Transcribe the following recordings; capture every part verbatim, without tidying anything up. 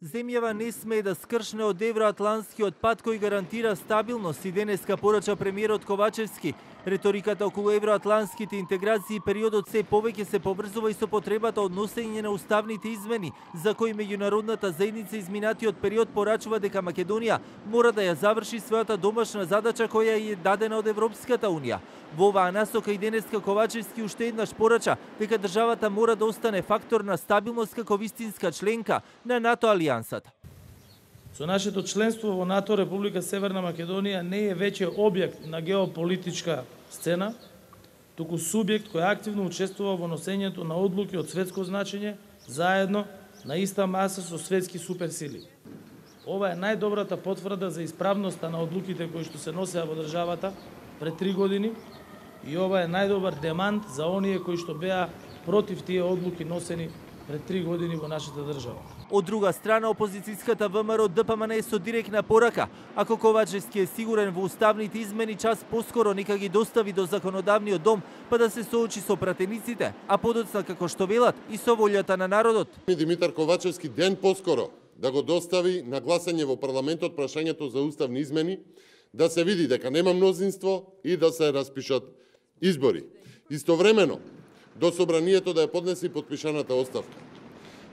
Земјава не смее да скршне од евроатлантскиот пат кој гарантира стабилност и денеска порача премиерот Ковачевски. Реториката околу евроатлантските интеграции периодот се повеќе се поврзува и со потребата од носење на уставните измени, за кои меѓународната заедница изминатиот период порачува дека Македонија мора да ја заврши својата домашна задача која е дадена од Европската унија. Во оваа насока и денеска Ковачевски уште еднаш порача дека државата мора да остане фактор на стабилност како вистинска членка на НАТО алијансата. Со нашето членство во НАТО, Република Северна Македонија не е веќе објект на геополитичка сцена, туку субјект кој активно учествува во носењето на одлуки од светско значење, заедно на иста маса со светски суперсили. Ова е најдобрата потврда за исправноста на одлуките кои што се носеа во државата пред три години и ова е најдобар демант за оние кои што беа против тие одлуки носени пред три години во нашата држава. Од друга страна, опозицијската ВМРО ДПМН е со директна порака. Ако Ковачевски е сигурен во уставните измени, час поскоро нека ги достави до законодавниот дом, па да се соочи со пратениците, а подоцна како што велат и со волјата на народот. Димитар Ковачевски ден поскоро да го достави на гласање во парламентот прашањето за уставни измени, да се види дека нема мнозинство и да се распишат избори. Истовремено, до собранието да ја поднесе и подпишаната оставка.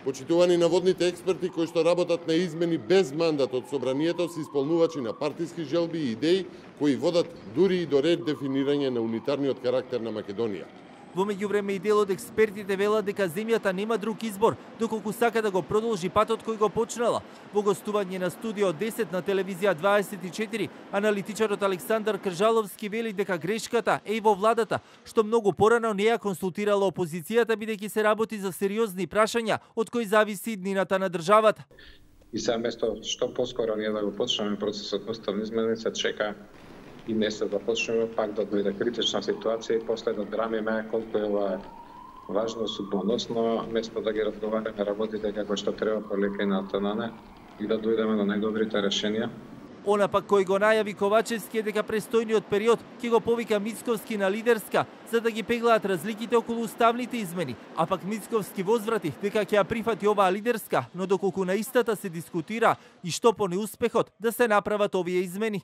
Почитувани наводните експерти кои што работат на измени без мандат од собранието се исполнувачи на партиски желби и идеи кои водат дури и до редефинирање на унитарниот карактер на Македонија. Во меѓувреме и дел од експертите велат дека земјата нема друг избор, доколку сака да го продолжи патот кој го почнала. Во гостување на Студио десет на телевизија дваесет и четири, аналитичарот Александар Кржаловски вели дека грешката е и во владата, што многу порано не ја консултирала опозицијата, бидејќи се работи за сериозни прашања од кои зависи иднината на државата. И сега место што поскоро ние да го почнеме процесот на уставни измени, се чека и не се да почнеме, пак да дојде критична ситуација и после да драмиме колку е ова важно судбоносно, место да ги разговараме работите како што треба полека и натанане и да дојдеме до најдобрите решенија. Она пак кој го најави Ковачевски е дека престојниот период ќе го повика Мицковски на лидерска, за да ги пеглаат разликите околу уставните измени, а пак Мицковски возврати дека ќе ја прифати оваа лидерска, но доколку на истата се дискутира и што по неуспехот да се направат овие измени.